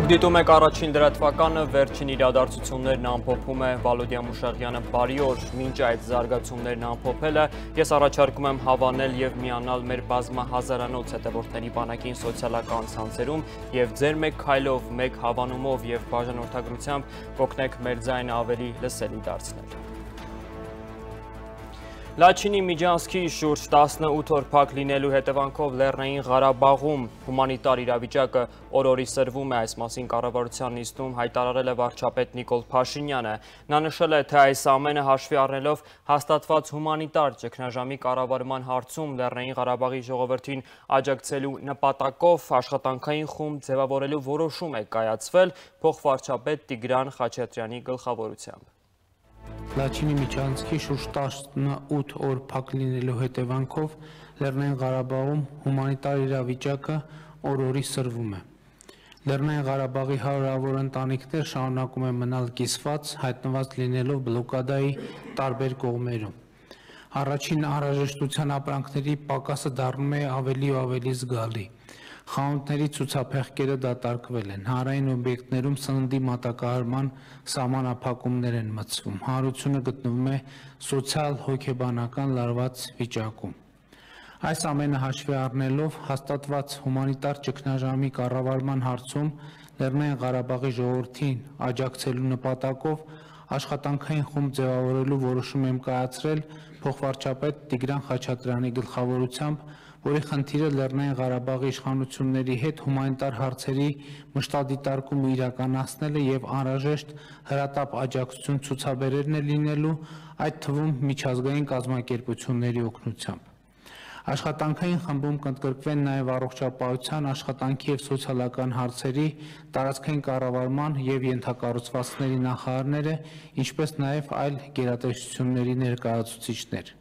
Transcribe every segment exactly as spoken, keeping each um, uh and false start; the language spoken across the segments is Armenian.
Դուք դիտում եք առաջին լրատվականը, վերջին իրադարձություններն ամփոփում է Վալոդիա Մուշաղյանը, բարի օր, մինչ այդ զարգացումներն ամփոփելը, ես առաջարկում եմ հավանել եւ միանալ մեր բազմահազարանոց հետևորդների բանակին սոցիալական ցանցերում եւ ձեր մեկ քայլով, մեկ հավանումով եւ բաժանորդագրությամբ կօգնեք մեր ձայնը ավելի լսելի դարձնել։ Լաչինի Միջանցքի շուրջ տասնութ օր փակ լինելու հետևանքով Լեռնային Ղարաբաղում հումանիտար իրավիճակը օր-օրի սրվում է, այս մասին կառավարության նիստում հայտարարել է վարչապետ Նիկոլ Փաշինյանը։ Նա նշել է, թե այս ամենը հաշվի առնելով հաստատված հումանիտար ճգնաժամի կառավարման հարցում Լեռնային Ղարաբաղի ժողովրդին աջակցելու նպատակով աշխատանքային խումբ ձևավորելու որոշում է կայացվել փոխվարչապետ Տիգրան Խաչատրյանի գլխավորությամբ։ Լաչինի Միջանցքի շուրջ տասնութ օր փակ լինելու հետևանքով Լեռնային Ղարաբաղում հումանիտար իրավիճակը օր-օրի սրվում է։ Լեռնային Ղարաբաղի հարյուրավոր ընտանիքներ շարունակում են մնալ կիսված, հայտնված լինելով բլոկադայի տարբեր կողմերում։ Առաջին անհրաժեշտության ապրանքների պակասը դառնում է ավելի ու ավելի զգալի։ Խանութների ցուցափեղկերը դատարկվել են, հանրային օբյեկտներում սննդի մատակարարման սահմանափակումներ են մտցվում, հանրությունը գտնվում է սոցիալ-հոգեբանական լարված վիճակում։ Այս ամենը հաշվի առնելով հաստատված հումանիտար ճգնաժամի կառավարման հարցում Լեռնային Ղարաբաղի ժողովրդին աջակցելու նպատակով աշխատանքային խումբ ձևավորելու որոշում եմ կայացրել փոխվարչապետ Տիգրան Խաչատրյանի գլխավորությամբ, որի խնդիրը Լեռնային Ղարաբաղի իշխանությունների հետ հումանիտար հարցերի մշտադիտարկումը իրականացնելը եւ անհրաժեշտ հրատապ աջակցություն ցուցաբերելն է լինելու, այդ թվում միջազգային կազմակերպությունների օգնությամբ։ Աշխատանքային խմբում կընդգրկվեն նաև առողջապահության, աշխատանքի եւ սոցիալական հարցերի, տարածքային կառավարման եւ ենթակառուցվածքների նախարարները, ինչպես նաև այլ գերատեսչությունների ներկայացուցիչներ։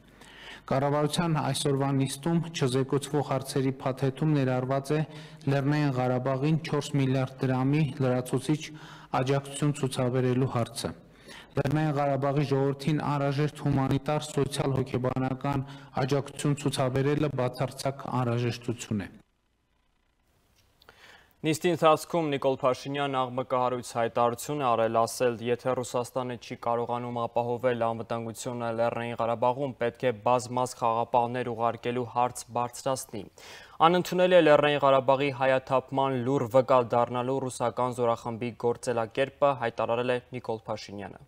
Կառավարության այսօրվա նիստում չզեկուցվող հարցերի փաթեթում ներառված է Լեռնային Ղարաբաղին չորս միլիարդ դրամի լրացուցիչ աջակցություն ցուցաբերելու հարցը։ Լեռնային Ղարաբաղի ժողովրդին անհրաժեշտ հումանիտար, սոցիալ-հոգեբանական աջակցություն ցուցաբերելը բացարձակ անհրաժեշտություն է։ Նիստի ընթացքում Նիկոլ Փաշինյանն աղմկահարույց հայտարարություն է արել, ասել, եթե Ռուսաստանը չի կարողանում ապահովել անվտանգությունը Լեռնային Ղարաբաղում, պետք է բազմազ խաղապահներ ուղարկելու հարց բարձրացնի։ Անընդունել է Լեռնային Ղարաբաղի հայաթափման լուռ վկա դառնալու ռուսական զորախմբի գործելակերպը, հայտարարել է Նիկոլ Փաշինյանը։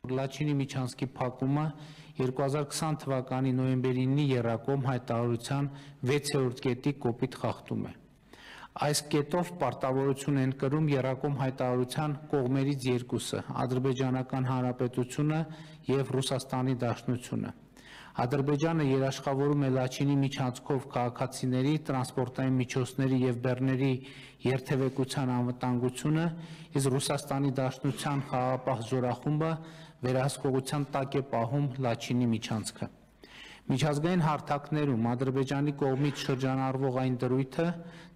Լաչինի Միջանցքի փակումը երկու հազար քսան թվականի նոյեմբերի ինը եռակողմ հայտարարության վեցերորդ կետի կոպիտ խախտում է։ Այս կետով պարտավորություն են կրում եռակողմ հայտարարության կողմերից երկուսը՝ Ադրբեջանական Հանրապետությունը եւ Ռուսաստանի Դաշնությունը։ Ադրբեջանը երաշխավորում է Լաչինի միջանցքով քաղաքացիների, տրանսպորտային միջոցների եւ բեռների երթևեկության անվտանգությունը, իսկ Ռուսաստանի Դաշնության խաղաղապահ զորախումբը վերահսկողության տակ է պահում Լաչինի միջանցքը։ Միջազգային հարթակներում Ադրբեջանի կողմից շրջանառվող այն դրույթը,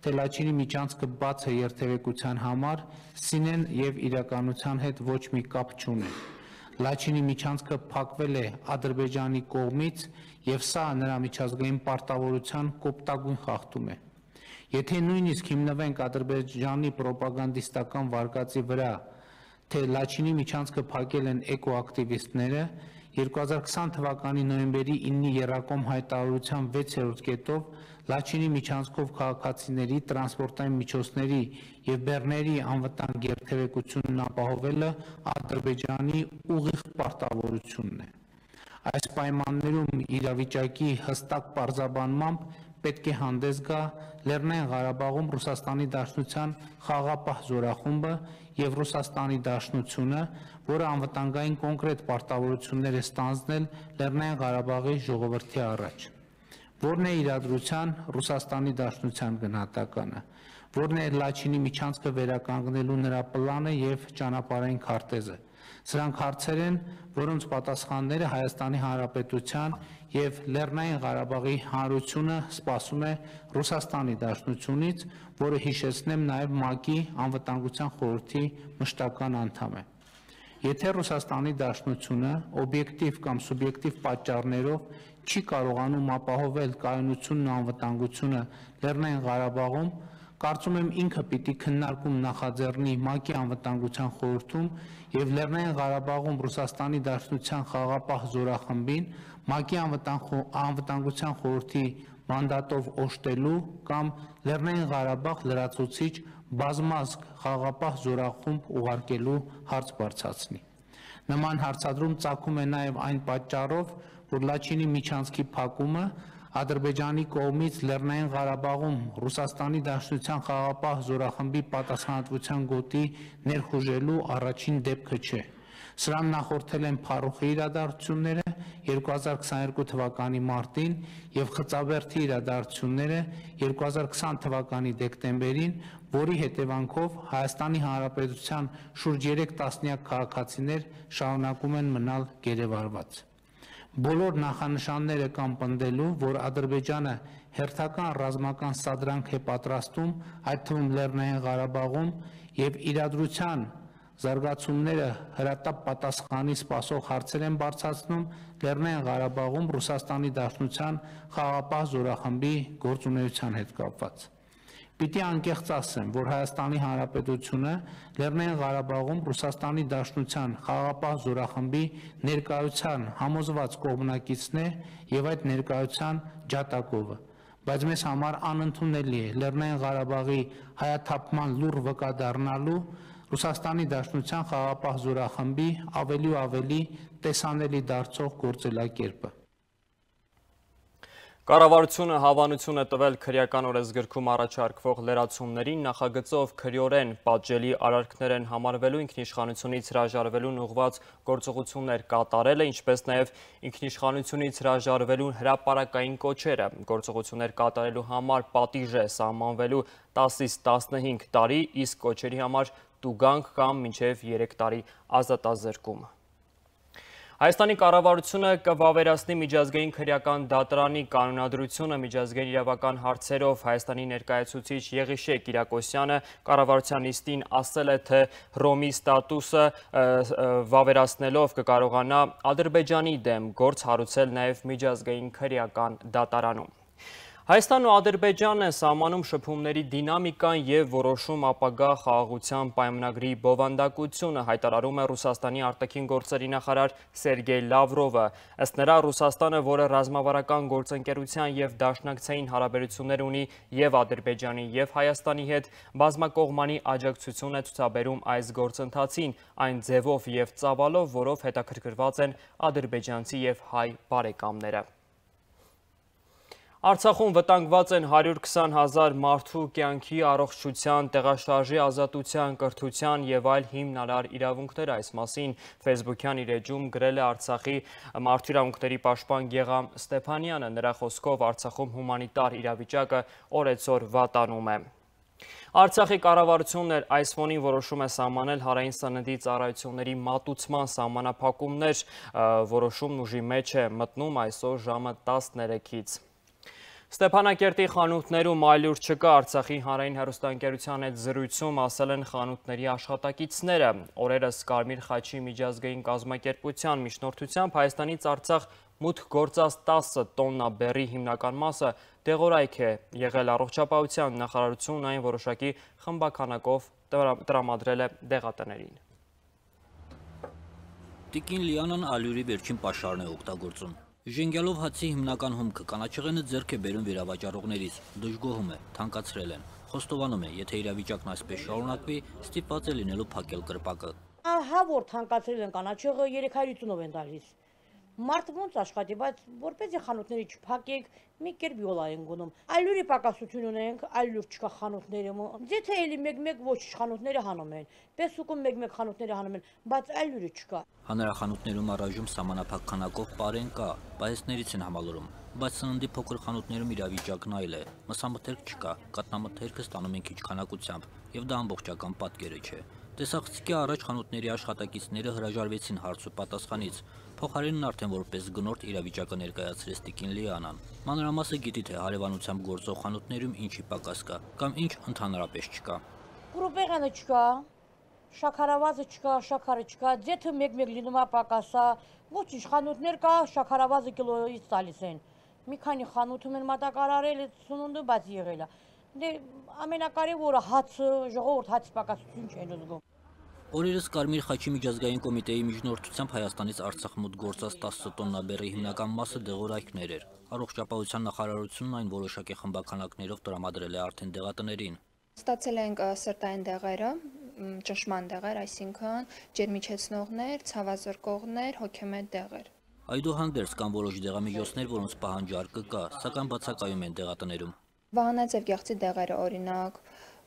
թե Լաչինի միջանցքը բաց է երթևեկության համար, սինեն եւ իրականության հետ ոչ մի կապ չունի։ Լաչինի միջանցքը փակվել է Ադրբեջանի կողմից եւ սա նրա միջազգային պարտավորության կոպտագույն խախտում է։ Եթե նույնիսկ հիմնվենք Ադրբեջանի պրոպագանդիստական վարկածի վրա, թե Լաչինի միջանցքը փակել են էկոակտիվիստները, երկու հազար քսան թվականի նոյեմբերի ինը եռակողմ հայտարարության վեցերորդ կետով Լաչինի միջանցքով քաղաքացիների, տրանսպորտային միջոցների եւ բեռների անվտանգ երթևեկությունն ապահովելը Ադրբեջանի ուղիղ պարտավորությունն է։ Այս պայմաններում իրավիճակի հստակ պարզաբանմամբ պետք է հանդես գա Լեռնային Ղարաբաղում Ռուսաստանի Դաշնության խաղաղապահ զորախումբը եւ Ռուսաստանի Դաշնությունը, որը անվտանգային կոնկրետ պարտավորություններ է ստանձնել Լեռնային Ղարաբաղի ժողովրդի առաջ։ Որն է իրադրության Ռուսաստանի Դաշնության գնահատականը, որն է Լաչինի միջանցքը վերականգնելու նրա պլանը եւ ճանապարհային քարտեզը։ Սրանք հարցեր են, որոնց պատասխանները Հայաստանի Հանրապետության եւ Լեռնային Ղարաբաղի Հանրությունը սպասում է Ռուսաստանի Դաշնությունից, որը հիշեցնեմ նաեւ ՄԱԿ-ի անվտանգության խորհրդի մշտական անդամ է։ Եթե Ռուսաստանի Դաշնությունը օբյեկտիվ կամ սուբյեկտիվ պատճառներով չի կարողանում ապահովել կայունությունն ու անվտանգությունը Լեռնային Ղարաբաղում, Կարծում եմ ինքը պիտի քննարկում նախաձեռնի ՄԱԿ-ի անվտանգության խորհրդում եւ Լեռնային Ղարաբաղում Ռուսաստանի Դաշնության խաղաղապահ զորախմբին ՄԱԿ-ի անվտանգության խորհրդի մանդատով օժտելու կամ Լեռնային Ղարաբաղ լրացուցիչ բազմազգ խաղաղապահ զորախումբ ուղարկելու հարց բարձրացնի։ Նման հարցադրում ծագում է նաև այն պատճառով, որ Լաչինի միջանցքի փակումը Ադրբեջանի կողմից Լեռնային Ղարաբաղում Ռուսաստանի Դաշնության խաղաղապահ զորախմբի պատասխանատվության գոտի ներխուժելու առաջին դեպքը չէ։ Սրան նախորդել են փառուխի իրադարձությունները երկու հազար քսաներկու թվականի մարտին եւ Խծաբերդի իրադարձությունները երկու հազար քսան թվականի դեկտեմբերին, որի հետևանքով Հայաստանի Հանրապետության շուրջ երեք տասնյակ քաղաքացիներ շարունակում են մնալ գերեվարված։ Բոլոր նախանշանները կան պնդելու, որ Ադրբեջանը հերթական ռազմական սադրանք է պատրաստում, այդ թվում Լեռնային Ղարաբաղում եւ իրադրության զարգացումները հրատապ պատասխանի սպասող հարցեր են բարձրացնում Լեռնային Ղարաբաղում Ռուսաստանի Դաշնության խաղաղապահ զորախմբի գործունեության հետ կապված։ Պիտի անկեղծ ասեմ, որ Հայաստանի Հանրապետությունը Լեռնային Ղարաբաղում Ռուսաստանի Դաշնության խաղաղապահ զորախմբի ներկայության համոզված կողմնակիցն է եւ այդ ներկայության ջատագովը, բայց մեզ համար անընդունելի է Լեռնային Ղարաբաղի հայաթափման լուռ վկա դառնալու Ռուսաստանի Դաշնության խաղաղապահ զորախմբի ավելի ու ավելի տեսանելի դարձող գործելակերպը։ Կառավարությունը հավանություն է տվել քրեական օրենսգրքում առաջարկվող լրացումներին, նախագծով քրեորեն պատժելի արարքներ են համարվելու, ինքնիշխանությունից հրաժարվելուն ուղղված գործողություններ կատարելը, ինչպես նաև ինքնիշխանությունից հրաժարվելուն հրապարակային կոչերը, գործողություններ կատարելու համար պատիժ է սահմանվելու տասից տասնհինգ տարի, իսկ կոչերի համար տուգանք կամ մինչև երեք տարի ազատազրկում։ Հայաստանի կառավարությունը կվավերացնի միջազգային քրեական դատարանի կանոնադրությունը միջազգային իրավական հարցերով Հայաստանի ներկայացուցիչ Եղիշե Կիրակոսյանը կառավարության նիստին ասել է, թե Հռոմի ստատուսը վավերացնելով կկարողանա Ադրբեջանի դեմ գործ հարուցել նաև միջազգային քրեական դատարանում։ Հայաստանն ու Ադրբեջանն են սահմանում շփումների դինամիկան և որոշում ապագա խաղաղության պայմանագրի բովանդակությունը, հայտարարում է Ռուսաստանի արտաքին գործերի նախարար Սերգեյ Լավրովը։ Ըստ նրա, Ռուսաստանը, որը ռազմավարական գործընկերության և դաշնակցային հարաբերություններ ունի և Ադրբեջանի և Հայաստանի հետ, բազմակողմանի աջակցություն է ցուցաբերում այս գործընթացին, այն ձևով և ծավալով, որով հետաքրքրված են ադրբեջանցի և հայ բարեկամները։ Արցախում վտանգված են հարյուր քսան հազար մարդու կյանքի, առողջության, տեղաշարժի ազատության, կրթության և այլ հիմնարար իրավունքներ։ Այս մասին Facebook-յան իր էջում գրել է Արցախի մարդու իրավունքների պաշտպան Գեգամ Ստեփանյանը։ Նրա խոսքով Արցախում հումանիտար իրավիճակը օրեցօր վատանում է։ Արցախի կառավարությունն այս ֆոնին որոշում է սահմանել հանրային սննդի ծառայությունների մատուցման սահմանափակումներ, որոշումն ուժի մեջ է մտնում այսօր ժամը տասներեքից։ Ստեփանակերտի խանութներում այլուր չկա, Արցախի հանրային հեռուստաընկերության հետ զրույցում ասել են խանութների աշխատակիցները։ Օրերս Կարմիր խաչի միջազգային կազմակերպության միջնորդությամբ Հայաստանից Արցախ մուտք գործած տասը տոննա բեռի հիմնական մասը դեղորայք է եղել, առողջապահության նախարարությունն այն որոշակի խմբաքանակով տրամադրել է դեղատներին։ Տիկին Լիանան ալյուրի վերջին պաշարն է օգտագործում։ Ժենգյալով հացի հիմնական հումքը կանաչեղենը ձեռք է բերում վերավաճառողներից, դժգոհում է, թանկացրել են, խոստովանում է, եթե իրավիճակն այսպես շարունակվի, ստիպված է լինելու փակել կրպակը։ Ահա որ թանկացրել են կանաչեղը երեք հարյուր ութ-ով են տալիս։ Մարդը ոնց աշխատի, բայց որպեսզի խանութների չփակեք, մի կերպ յոլա են գնում։ Այլուրի պակասություն ունենք, այլուր չկա խանութներում։ Ձեթե էլի մեկ-մեկ ոչ խանութները հանում են, Պեսուկում մեկ-մեկ խանութները հանում են, բայց այլուրի չկա։ Հանրախանութներում առայժմ սահմանափակ քանակով պարեն կա, պահեստներից են համալուրում, բայց սննդի փոքր խանութներում իրավիճակն այլ է։ Մսամթերք չկա, կատնամթերքը ստանում են քիչ քանակությամբ, եւ դա ամբողջական պատկերը չէ։ Տեսախցիկի առաջ խանութների աշխատակիցները հրաժարվեցին հարց ու պատասխանից։ Փոխարենն արդեն որպես գնորդ իրավիճակը ներկայացրեց տիկին Լիանան։ Մանրամասը գիտի, թե հարևանությամբ գործող խանութներում ինչի պակաս կա, կամ ինչ ընդհանրապես չկա։ Կրուպեղանը չկա, շաքարավազը չկա, շաքարը չկա, ձեթը մեկ-մեկ լինում է պակասա, ոչինչ խանութներ կա, շաքարավազը կիլոյից տալիս են։ Մի քանի խանութում են մատակարարել այդ սնունդը, բայց եղել է։ Դե ամենակարևորը հացը, ժողովուրդ հացի պակասություն չեն զգում։ Օրերս Կարմիր խաչի միջազգային կոմիտեի միջնորդությամբ Հայաստանից Արցախ մոտ գործած տասը տոննա բեռի հիմնական մասը դեղորայքներ էր։ Առողջապահության նախարարությունն այն որոշակի խմբականակներով տրամադրել է արդեն դեղատներին։ Ստացել ենք սրտային դեղերը, ճնշման դեղեր, այսինքն ջերմիչեցնողներ, ցավազրկողներ, հոգեմետ դեղեր։ Այդուհանդերձ կան որոշ դեղամիջոցներ, որոնց պահանջարկը կա, սակայն բացակայում են դեղատներում։ Վահանաձև գեղձի դեղերը, օրինակ,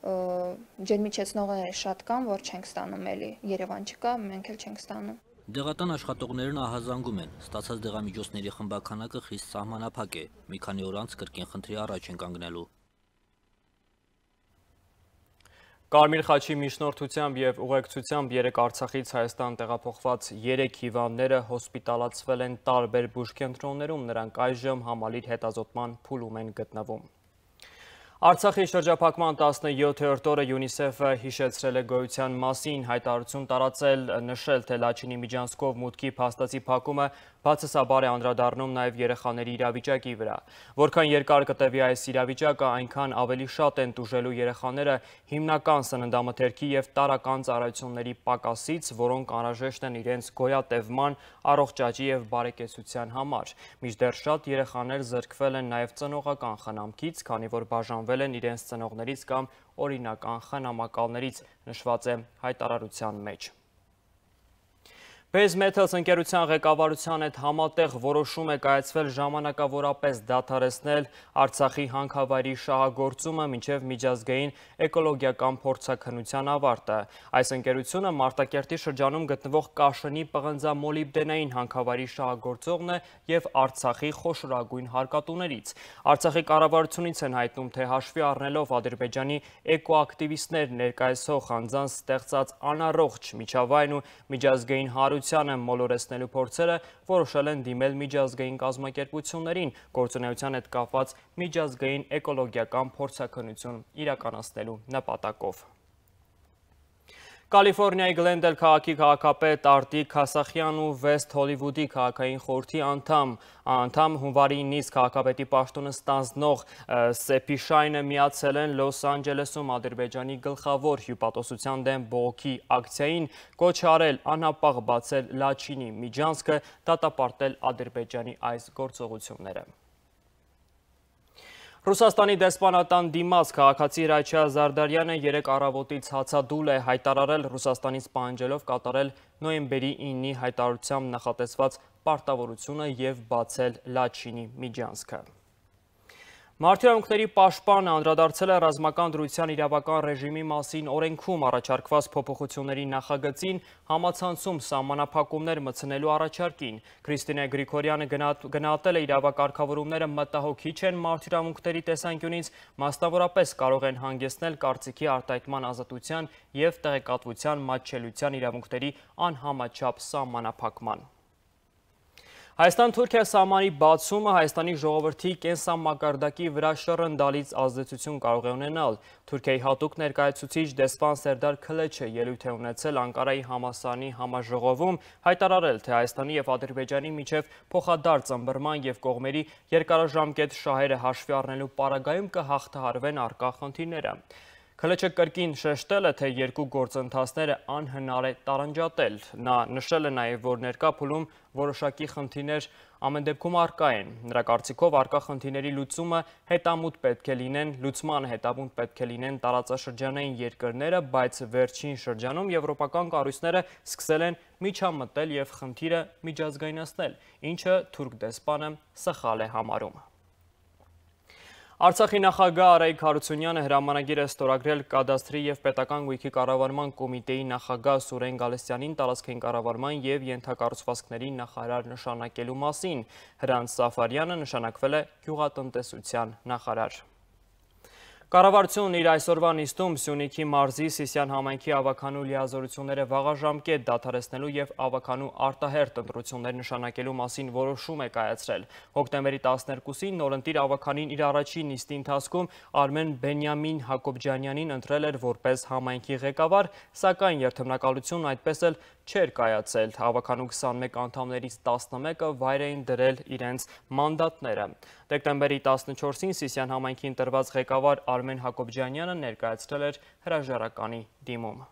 ջերմիչեցնողները շատ կան, որ չենք ստանում էլի, Երևան չկա, մենք էլ չենք ստանում։ Դեղատան աշխատողներն ահազանգում են, ստացած դեղամիջոցների խմբականակը խիստ սահմանափակ է, մի քանի օր անց կրկին խնդրի առաջ են կանգնելու։ Կարմիր խաչի միջնորդությամբ եւ ուղեկցությամբ երեք Արցախից Հայաստան տեղափոխված երեք հիվանդները հոսպիտալացվել են տարբեր բուժկենտրոններում, նրանք այժմ համալիր հետազոտման փուլում են գտնվում։ Արցախի շրջափակման տասնյոթերորդ օրը ՅՈՒՆԻՍԵՖ-ը հիշեցրել է գոյության մասին, հայտարարություն տարածել, նշել, թե Լաչինի միջանցքով մուտքի փաստացի փակումը բացասաբար է անդրադառնում նաև երեխաների իրավիճակի վրա։ Որքան երկար կտևի այս իրավիճակը, այնքան ավելի շատ են տուժելու երեխաները հիմնական սննդամթերքի եւ տարրական ծառայությունների պակասից, որոնք անհրաժեշտ են իրենց գոյատևման, առողջ աճի եւ բարեկեցության համար։ Մինչդեռ շատ երեխաներ զրկվել են նաև ծնողական խնամքից, քանի որ բաժանվել են իրենց ծնողներից կամ օրինական խնամակալներից, նշված է հայտարարության մեջ։ Base Metals ընկերության ղեկավարության հետ համատեղ որոշում է կայացվել ժամանակավորապես դադարեցնել Արցախի հանքավայրի շահագործումը մինչև միջազգային էկոլոգիական փորձաքննության ավարտը։ Այս ընկերությունը Մարտակերտի շրջանում գտնվող Կաշնի պղնձամոլիբդենային հանքավայրի շահագործողն է եւ Արցախի խոշորագույն հարկատուներից։ Արցախի կառավարությունից են հայտնում, թե հաշվի առնելով Ադրբեջանի էկոակտիվիստներ ներկայացող անձանց ստեղծած անառողջ միջավայրն ու միջազգային հարությանը մոլորեցնելու փորձերը, որոշել են դիմել միջազգային կազմակերպություններին գործունեության հետ կապված միջազգային էկոլոգիական փորձաքննություն իրականացնելու նպատակով։ Կալիֆորնիայի Գլենդել քաղաքի քաղաքապետ Արտիկ Քասախյան ու Վեսթ Հոլիվուդի քաղաքային խորհրդի անդամ անդամ հունվարի նիստ քաղաքապետի պաշտոնը ստանձնող Սեփի Շայնը միացել են Լոս Անջելեսում Ադրբեջանի գլխավոր հյուպատոսության դեմ բողոքի ակցիային, կոչ արել անապաղ բացել Լաչինի միջանցքը, դատապարտել Ադրբեջանի այս գործողությունները։ Ռուսաստանի դեսպանատան դիմաց քաղաքացի Ռաչա Զարդարյանը երեք առավոտից հացադուլ է հայտարարել Ռուսաստանից պահանջելով կատարել նոյեմբերի իննի հայտարարությամբ նախատեսված պարտավորությունը եւ բացել Լաչինի միջանցքը։ Մարդահրավերների պաշտպանը անդրադարձել է ռազմական դրության իրավական ռեժիմի մասին օրենքում առաջարկված փոփոխությունների նախագծին, համացանցում սահմանափակումներ մտցնելու առաջարկին։ Քրիստինե Գրիգորյանը գնահատել է իրավակարգավորումները մտահոգիչ են մարդահրավերների տեսանկյունից, մասնավորապես կարող են հանգեցնել կարծիքի արտահայտման ազատության եւ տեղեկատվության մատչելիության իրավունքների անհամաչափ սահմանափակման։ Հայաստան-Թուրքիա սահմանի բացումը Հայաստանի ժողովրդի կենսամակարդակի վրա շռնդալից ազդեցություն կարող է ունենալ։ Թուրքիայի հատուկ ներկայացուցիչ դեսպան Սերդար Քլեչը ելույթ է ունեցել Անկարայի համալսարանի համաժողովում, հայտարարել, թե Հայաստանի եւ Ադրբեջանի միջև փոխադարձ ըմբռնման եւ կողմերի երկարաժամկետ շահերը հաշվի առնելու պարագայում կհաղթահարվեն առկա խնդիրները։ Քլեչը կրկին շեշտել է, թե երկու գործընթացները անհնար է տարանջատել։ Նա նշել է նաև, որ ներկա փուլում որոշակի խնդիրներ ամեն դեպքում առկա են։ Նրա կարծիքով առկա խնդիրների լուծումը հետամուտ պետք է լինեն, լուծմանը հետամուտ պետք է լինեն տարածաշրջանային երկրները, բայց վերջին շրջանում եվրոպական կառույցները սկսել են միջամտել եւ խնդիրը միջազգայնացնել, ինչը թուրք դեսպանը սխալ է համարում։ Արցախի նախագահ Արայիկ Հարությունյանը հրամանագիր է ստորագրել կադաստրի եւ պետական գույքի կառավարման կոմիտեի նախագահ Սուրեն Գալստյանին տարածքային կառավարման եւ ենթակառուցվածքների նախարար նշանակելու մասին։ Հրանտ Սաֆարյանը նշանակվել է գյուղատնտեսության նախարար։ Կառավարությունն իր այսօրվա նիստում Սյունիքի մարզի Սիսիան համայնքի ավականու լիազորությունները վաղաժամկետ դադարեցնելու եւ ավականու արտահերթ ընտրություններ նշանակելու մասին որոշում է կայացրել։ Հոկտեմբերի տասներկուսին նորընտիր ավականին իր առաջին նիստի ընթացքում Արմեն Բենյամին Հակոբյանյանին ընտրել էր որպես համայնքի ղեկավար, սակայն երթմնակալությունն այդպես էլ չէր կայացել, հավաքանու քսանմեկ անդամներից տասնմեկը վայր էին դրել իրենց մանդատները։ Դեկտեմբերի տասնչորսին Սիսիան համայնքին տրված ղեկավար Արմեն Հակոբյանը ներկայացրել էր հրաժարականի դիմում։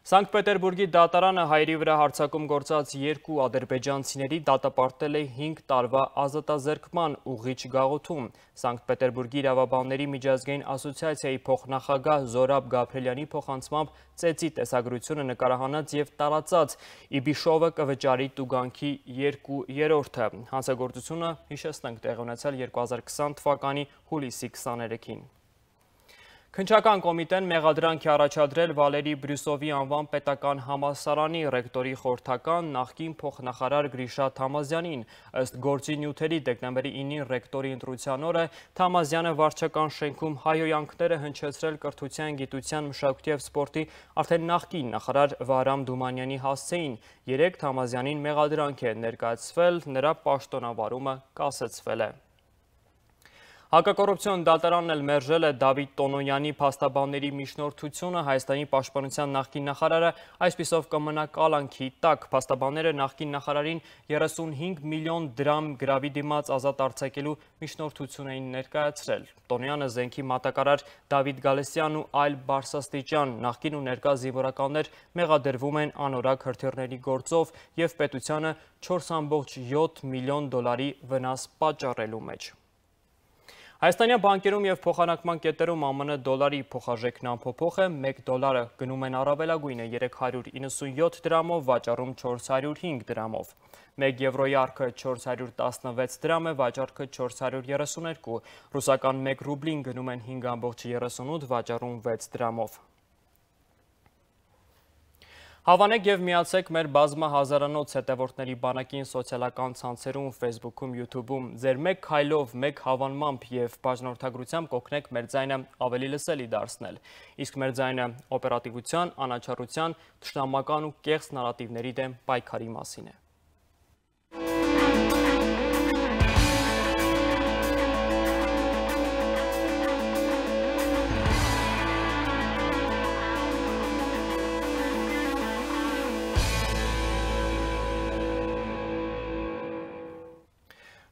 Սանկտ Պետերբուրգի դատարանը հայերի վրա հարձակում գործած երկու ադրբեջանցիների դատապարտել է հինգ տարվա ազատազրկման ուղղիչ գաղութում։ Սանկտ Պետերբուրգի իրավաբանների միջազգային ասոցիացիայի փոխնախագահ Զորաբ Գաբրելյանի փոխանցմամբ ծեծի տեսագրությունը նկարահանած եւ տարածած Իբիշովը կվճարի տուգանքի երկու երրորդը։ Հանցագործությունը, հիշեցնենք, տեղի ունեցել երկու հազար քսան թվականի հուլիսի քսաներեքին։ Քննչական կոմիտեն մեղադրանք է առաջադրել Վալերի Բրյուսովի անվան պետական համալսարանի ռեկտորի խորհրդական նախկին փոխնախարար Գրիշա Թամազյանին։ Ըստ գործի նյութերի դեկտեմբերի ինին ռեկտորի ընտրության օրը Թամազյանը վարչական շենքում հայհոյանքները հնչեցրել կրթության, գիտության, մշակույթի և սպորտի արդեն նախկին նախարար Վահրամ Դումանյանի հասցեին։ Երեկ Թամազյանին մեղադրանք է ներկայացվել, նրա պաշտոնավարումը կասեցվել է։ Հակակոռուպցիոն դատարանն էլ մերժել է Դավիթ Տոնոյանի փաստաբանների միջնորդությունը, Հայաստանի պաշտպանության նախկին նախարարը այսպիսով կմնա կալանքի տակ։ Փաստաբանները նախկին նախարարին երեսունհինգ միլիոն դրամ գրավի դիմաց ազատ արձակելու միջնորդություն էին ներկայացրել։ Տոնոյանը, զենքի մատակարար Դավիթ Գալստյանն ու այլ բարձրաստիճան նախկին ու ներկա զինվորականներ մեղադրվում են անորակ հրթիռների գործով և պետությանը չորս կόμμα յոթ միլիոն դոլարի վնաս պատճառելու մեջ։ Հայաստանյան բանկերում և փոխանակման կետերում ԱՄՆ դոլարի փոխարժեքն անփոփոխ է, մեկ դոլարը գնում են առավելագույնը երեք հարյուր իննսունյոթ դրամով, վաճառում չորս հարյուր հինգ դրամով։ Մեկ եվրոյի արքը չորս հարյուր տասնվեց դրամ է, վաճառքը չորս հարյուր երեսուներկու, ռուսական մեկ ռուբլին գնում են հինգ կόμμα երեսունութ, վաճառում վեց դրամով։ Հավանեք և միացեք մեր բազմահազարանոց հետևորդների բանակին սոցիալական ցանցերում, Facebook-ում, YouTube-ում, ձեր մեկ քայլով, մեկ հավանմամբ և բաժանորդագրությամբ կօգնեք մեր ձայնը ավելի լսելի դարձնել։ Իսկ մեր ձայնը օպերատիվության, անաչառության, թշնամական ու կեղծ նարատիվների դեմ պայքարի մասին է։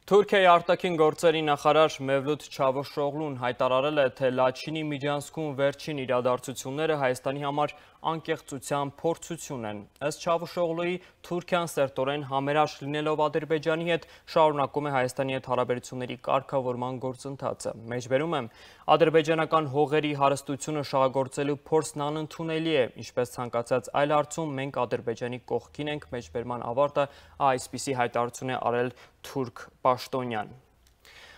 Թուրքիայի արտաքին գործերի նախարար Մևլութ Չավուշօղլուն հայտարարել է, թե Լաչինի միջանցքում վերջին իրադարձությունները Հայաստանի համար անկեղծության փորձություն են։ Ըստ Չավուշօղլուի, Թուրքիան սերտորեն համերաշխ լինելով Ադրբեջանի հետ շարունակում է Հայաստանի հետ հարաբերությունների կարգավորման գործընթացը։ Մեջբերում եմ, ադրբեջանական հողերի հարստությունը շահագործելու փորձն անընդունելի է, ինչպես ցանկացած այլ հարցում մենք Ադրբեջանի կողքին ենք, մեջբերման ավարտը այսպիսի հայտարարություն է արել թուրք պաշտոնյան։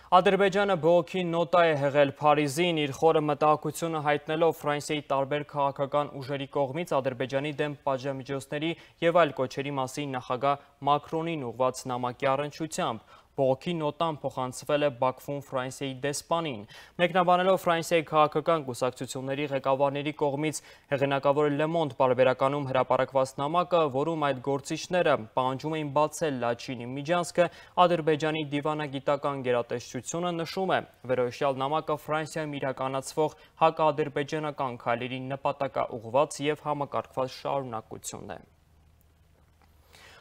Ադրբեջանը բողոքի նոտա է հղել Փարիզին, իր խորը մտահոգությունը հայտնելով Ֆրանսիայի տարբեր քաղաքական ուժերի կողմից Ադրբեջանի դեմ պատժամիջոցների և այլ կոչերի մասին նախագահ Մակրոնին ուղղված նամակի առնչությամբ։ Բողոքի նոտան փոխանցվել է Բաքվում Ֆրանսիայի դեսպանին։ Մեկնաբանելով Ֆրանսիայի քաղաքական կուսակցությունների ղեկավարների կողմից հեղինակավոր Le Monde պարբերականում հրապարակված նամակը, որում այդ գործիչները պահանջում էին բացել Լաչինի միջանցքը, Ադրբեջանի դիվանագիտական գերատեսչությունը նշում է, վերոհիշյալ նամակը Ֆրանսիայում իրականացվող հակաադրբեջանական քայլերի նպատակաուղղված և համակարգված շարունակությունն է։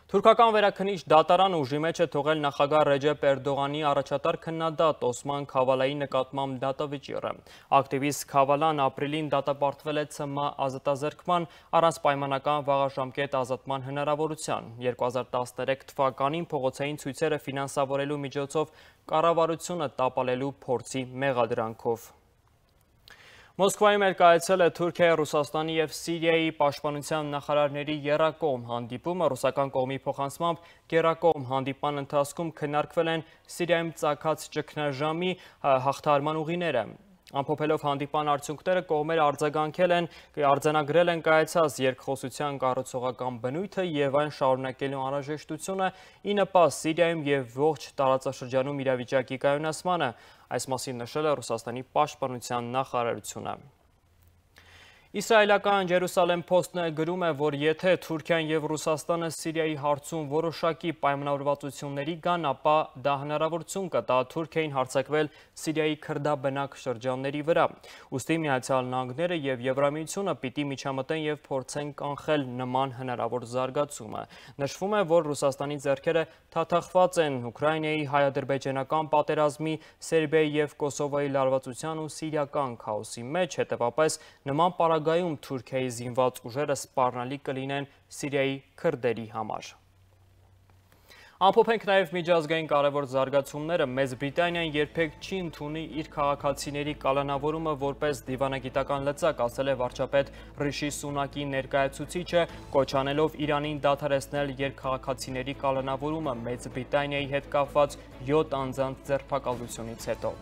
Թուրքական վերաքննիչ դատարանը ուժի մեջ է թողել նախագահ Ռեջեփ Էրդողանի առաջատար քննադատ Օսման Քավալայի նկատմամբ դատավճիռը։ Ակտիվիստ Քավալան ապրիլին դատապարտվել է ՑՄ ազատազրկման առանց պայմանական վաղաժամկետ ազատման հնարավորության։ երկու հազար տասներեք թվականին փողոցային ցույցերը ֆինանսավորելու միջոցով կառավարությունը տապալելու փորձի մեղադրանքով։ Մոսկվայում էլ կայացել է Թուրքիայի, Ռուսաստանի և Սիրիայի պաշտպանության նախարարների եռակողմ հանդիպումը։ Ռուսական կողմի փոխանցմամբ եռակողմ հանդիպման ընթացքում քննարկվել են Սիրիայում ծագած ճգնաժամի հաղթահարման ուղիները։ Ամփոփելով հանդիպան արդյունքները, կողմերը արձագանքել են, արձանագրել են կայացած երկխոսության կառուցողական բնույթը և այն շարունակելու անհրաժեշտությունը ի նպաստ Սիրիայում և ողջ տարածաշրջանում իրավիճակի կայունացմանը, այս մասին նշել է Ռուսաստանի պաշտպանության նախարարությունը։ Իսրայելական Ջերուսալեմ Փոստն գրում է, որ եթե Թուրքիան եւ Ռուսաստանը Սիրիայի հարցում որոշակի պայմանավորվածությունների գան, ապա դա հնարավորություն կտա Թուրքիային հարձակվել Սիրիայի քրդաբնակ շրջանների վրա։ Ուստի Միացյալ Նահանգները եւ Եվրամիությունը պիտի միջամտեն եւ փորձեն կանխել նման հնարավոր զարգացումը։ Նշվում է, որ Ռուսաստանի ձեռքերը թաթախված են Ուկրաինայի հայ-ադրբեջանական պատերազմի, Սերբիայի եւ Կոսովոյի լարվածության ու սիրիական քաոսի մեջ, հետեւապես նման պարագայում Թուրքիայի զինված ուժերը սպառնալի կլինեն Սիրիայի քրդերի համար։ Ամփոփենք նաև միջազգային կարևոր զարգացումները։ Մեծ Բրիտանիան երբեք չի ընդունի իր քաղաքացիների կալանավորումը որպես դիվանագիտական լծակ, ասել է վարչապետ Ռիշի Սունակի ներկայացուցիչը, կոչ անելով Իրանին դադարեցնել երկքաղաքացիների կալանավորումը Մեծ Բրիտանիայի հետ կապված յոթ անձանց ձերբակալությունից հետո։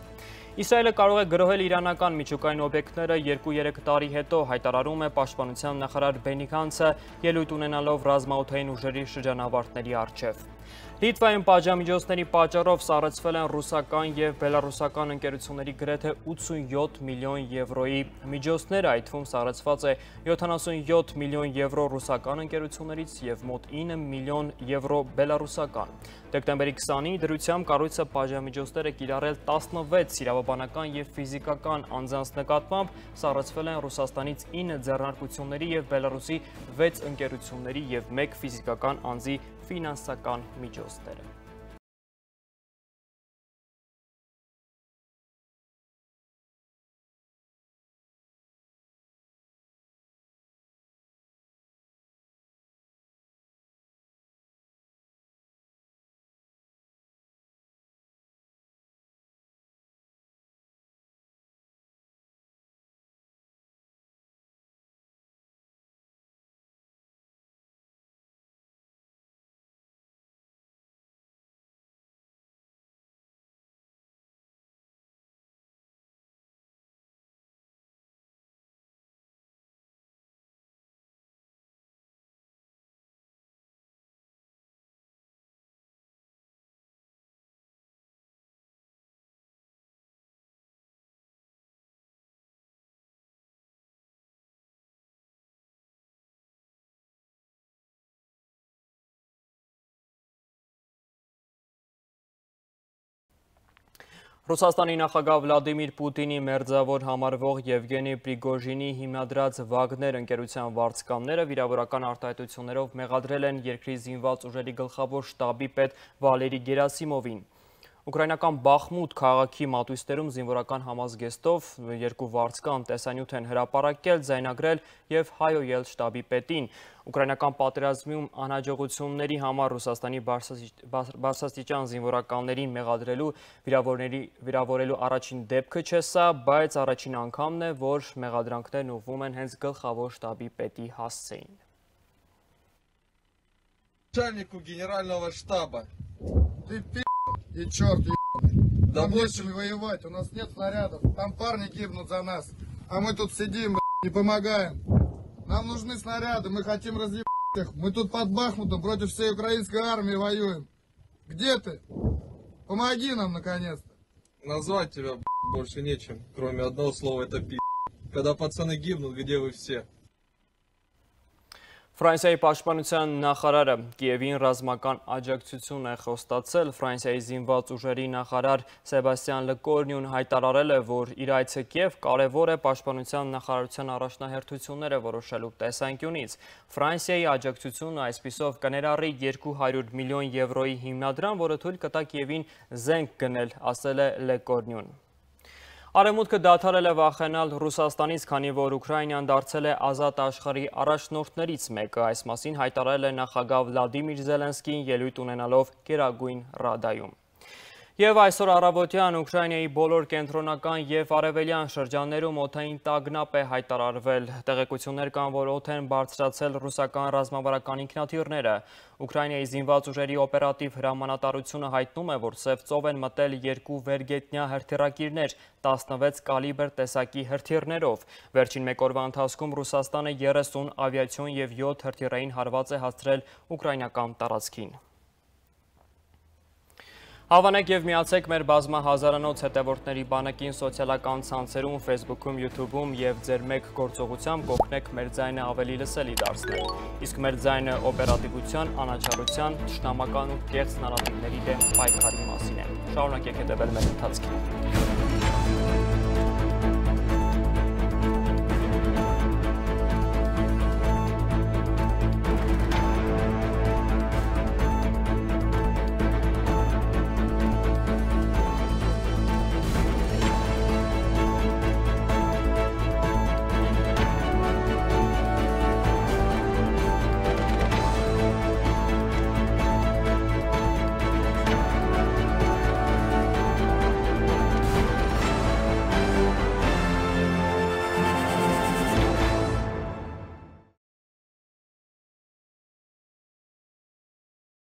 Իսրայելը կարող է գրոհել իրանական միջուկային օբյեկտները երկու-երեք տարի հետո, հայտարարում է պաշտպանության նախարար Բենի Գանցը, ելույթ ունենալով ռազմաօդային ուժերի շրջանավարտների առջև։ Լիտվայում պատժամիջոցների պատճառով սառեցվել են ռուսական և բելառուսական ընկերությունների գրեթե ութսունյոթ միլիոն եվրոյի միջոցները, այդ թվում սառեցված է յոթանասունյոթ միլիոն եվրո ռուսական ընկերություններից և մոտ ինը միլիոն եվրո բելառուսական։ Դեկտեմբերի քսանինի դրությամբ կառույցը պատժամիջոցներ է կիրառել տասնվեց իրավաբանական և ֆիզիկական անձանց նկատմամբ, սառեցվել են Ռուսաստանից ինը ձեռնարկությունների և Բելառուսի վեց ընկերությունների և մեկ ֆիզիկական անձի ֆինանսական միջոցները։ Ռուսաստանի նախագահ Վլադիմիր Պուտինի մերձավոր համարվող Եվգենի Պրիգոժինի հիմնադրած Վագներ ընկերության վարձկանները վիրավորական արտահայտություններով մեղադրել են երկրի զինված ուժերի գլխավոր շտաբի պետ Վալերի Գերասիմովին։ Ուկրաինական Բախմուտ քաղաքի մատույցներում զինվորական համազգեստով երկու վարձկան տեսանյութ են հրապարակել, ձայնագրել եւ հայոյել շտաբի պետին։ Ուկրաինական պատերազմում անհաջողությունների համար Ռուսաստանի բարձրաստիճան զինվորականներին մեղադրելու վիրավորելու առաջին դեպքը չէ սա, բայց առաջին անգամն է, որ մեղադրանքներն ուղղվում են հենց գլխավոր շտաբի պետի հասցեին։ Начальнику генерального штаба. Ты пи***, и черт ебаный. Да больше воевать, у нас нет снарядов. Там парни гибнут за нас. А мы тут сидим, не помогаем. Нам нужны снаряды, мы хотим разъебать их. Мы тут под Бахмутом против всей украинской армии воюем. Где ты? Помоги нам, наконец-то. Назвать тебя больше нечем, кроме одного слова, это пи***. Когда пацаны гибнут, где вы все? Ֆրանսիայի պաշտպանության նախարարը Կիևին ռազմական աջակցություն է խոստացել։ Ֆրանսիայի զինված ուժերի նախարար Սեբաստիան Լեկորնյուն հայտարարել է, որ իր այցը Կիև կարևոր է պաշտպանության նախարարության առաջնահերթությունները որոշելու տեսանկյունից։ Ֆրանսիայի աջակցությունը այսպիսով կներառի երկու հարյուր միլիոն եվրոյի հիմնադրամ, որը թույլ կտա Կիևին զենք գնել, ասել է Լեկորնյուն։ Արևմուտքը դադարել է վախենալ Ռուսաստանից, քանի որ Ուկրաինան դարձել է ազատ աշխարհի առաջնորդներից մեկը, այս մասին հայտարարել է նախագահ Վլադիմիր Զելենսկին ելույթ ունենալով Գերագույն Ռադայում։ Եվ այսօր առավոտյան Ուկրաինայի բոլոր կենտրոնական և արևելյան շրջաններում օդային տագնապ է հայտարարվել։ Տեղեկություններ կան, որ օդ են բարձրացել ռուսական ռազմավարական ինքնաթիռները։ Ուկրաինայի զինված ուժերի օպերատիվ հրամանատարությունը հայտնում է, որ Սև ծով են մտել երկու վերգետնյա հրթիռակիրներ տասնվեց կալիբր տեսակի հրթիռներով։ Վերջին մեկ օրվա ընթացքում Ռուսաստանը երեսուն ավիացիոն և յոթ հրթիռային հարված է հասցրել ուկրաինական տարածքին։ Հավանեք եւ միացեք մեր բազմա հազարանոց հետևորդների բանակին սոցիալական ցանցերում, Facebook-ում, YouTube-ում եւ ձեր մեկ գործողությամբ կօգնեք մեր ձայնը ավելի լսելի դարձնել։ Իսկ մեր ձայնը օպերատիվության, անաչառության, թշնամական ու կեղծ նարատիվների դեմ պայքարի մասին է։ Շարունակեք հետևել մեր ընթացքին։